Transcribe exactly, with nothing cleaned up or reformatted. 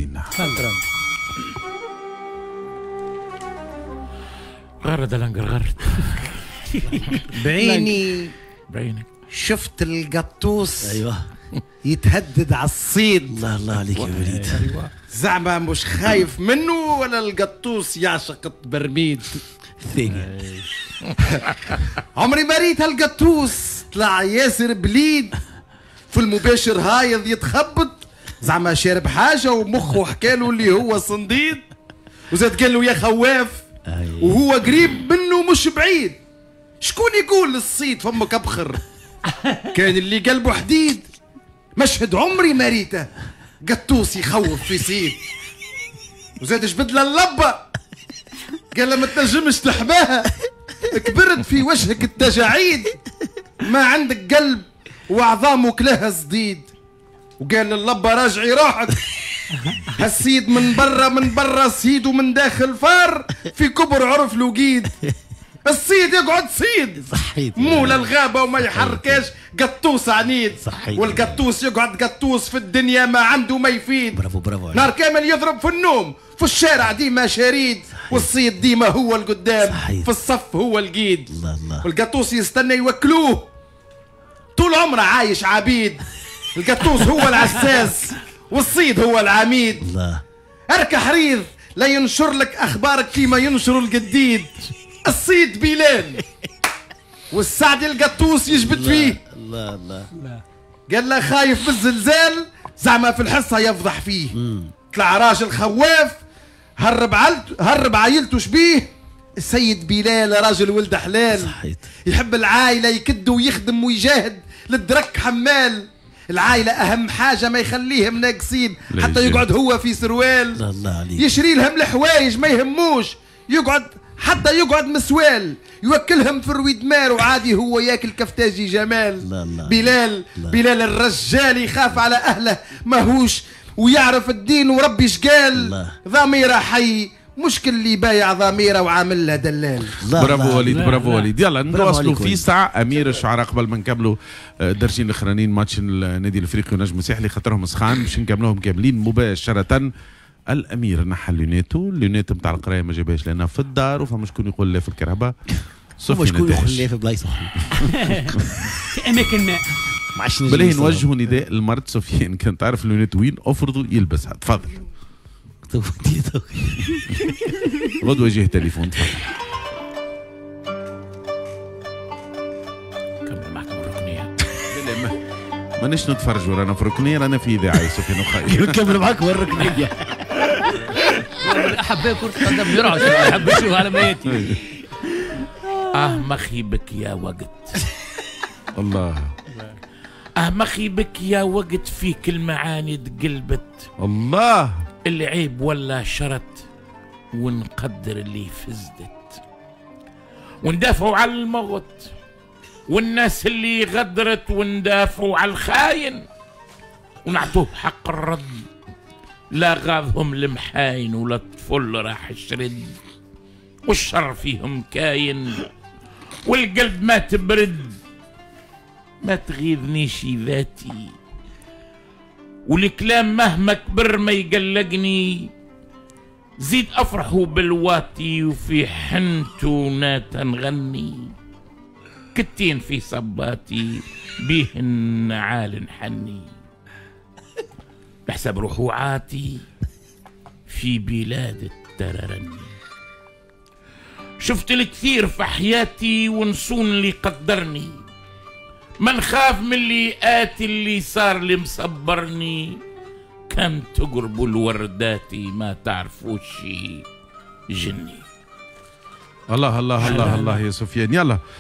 زينة. غرد لنجر غرد. بعيني بعينك شفت القطوس. ايوه يتهدد على الصيد. الله الله عليك يا وليد. زعما مش خايف منه ولا القطوس يعشق البرميد الثاني. عمري ما ريت هالقطوس طلع ياسر بليد في المباشر هايض يتخبط، زعما شارب حاجة ومخه حكاله اللي هو صنديد، وزاد قال له يا خواف وهو قريب منه مش بعيد. شكون يقول للصيد فمك ابخر؟ كان اللي قلبه حديد. مشهد عمري ما ريته قطوس يخوف في صيد. وزاد جبد له اللبه قال له ما تنجمش تحماها، كبرت في وجهك التجاعيد، ما عندك قلب وعظامه كلها صديد. وقال للبه راجعي روحك، هالسيد من برا من برا سيد ومن داخل فار في كبر عرف الوقيد. الصيد يقعد صيد صحيت مولى الغابة وما يحركاش قطوس عنيد. صحيت. والقطوس يقعد قطوس في الدنيا ما عنده ما يفيد. برافو برافو. نهار كامل يضرب في النوم في الشارع ديما شريد. صحيت. والصيد ديما هو القدام. صحيت. في الصف هو القيد. الله الله. والقطوس يستنى يوكلوه طول عمره عايش عبيد. القطوس هو العساس والصيد هو العميد. الله. اركح ريض لا ينشر لك اخبارك كيما ينشر القديد. الصيد بلال والسعد القطوس يجبد فيه. الله الله. قال له خايف بالزلزال زعما في الحصة يفضح فيه. طلع راجل خواف هرب عيلته هرب عائلته شبيه. السيد بلال راجل ولد حلال. صحيت. يحب العائلة يكد ويخدم ويجاهد للدرك حمال. العائلة اهم حاجة ما يخليهم ناقصين حتى يقعد هو في سروال. الله الله عليك. يشري لهم الحوايج ما يهموش يقعد حتى يقعد مسوال. يوكلهم في رويد مار وعادي هو ياكل كفتاجي جمال. الله الله. بلال الله. بلال الرجال يخاف على اهله ماهوش ويعرف الدين وربي شقال. ضميره حي مش اللي بايع ضميره وعامل له دلال. برافو وليد برافو وليد. يلا نواصلوا في ساعة امير الشعراء قبل ما نكملوا درجين الاخرانيين ماتش النادي الافريقي ونجم الساحلي خاطرهم سخان باش نكملوهم كاملين مباشرة. الامير نحى لونيتو، lunettes نتاع القراية ما جابهاش لانها في الدار وفما شكون يقول لا في الكهرباء. فما شكون يقول لا في بلايص في اماكن ما. ما عادش نجم. بالله نوجهوا نداء لمرت سفيان كان تعرف lunettes وين افرضوا يلبسها. تفضل. غدوه يجيه تليفون. تفضل. كمل معكم الركنيه. مانيش نتفرجوا رانا في ركنيه رانا في اذاعة يا سفيان وخير. نكمل معاكم الركنيه. احباء كرة القدم يرعش يحب يشوف على ميتي. اه مخيبك يا وقت. الله. اه مخيبك يا وقت فيك المعاني تقلبت. الله. اللي عيب ولا شرط ونقدر اللي فزدت وندافعوا على الموت والناس اللي غدرت وندافعوا على الخاين ونعطوه حق الرد. لا غاضهم المحاين ولا الطفل راح الشرد والشر فيهم كاين والقلب ما تبرد. ما تغيظنيش ذاتي والكلام مهما كبر ما يقلقني. زيد أفرحوا بالواتي وفي حنتو ناتا نغني. كتين في صباتي بيهن عال حني. بحسب رحوعاتي في بلاد التررني. شفت الكثير في حياتي ونصون اللي قدرني. ما نخاف من اللي آتي اللي صار اللي مصبرني. كان تقربوا الورداتي ما تعرفوش جني. الله الله الله الله يا سفيان. يلا.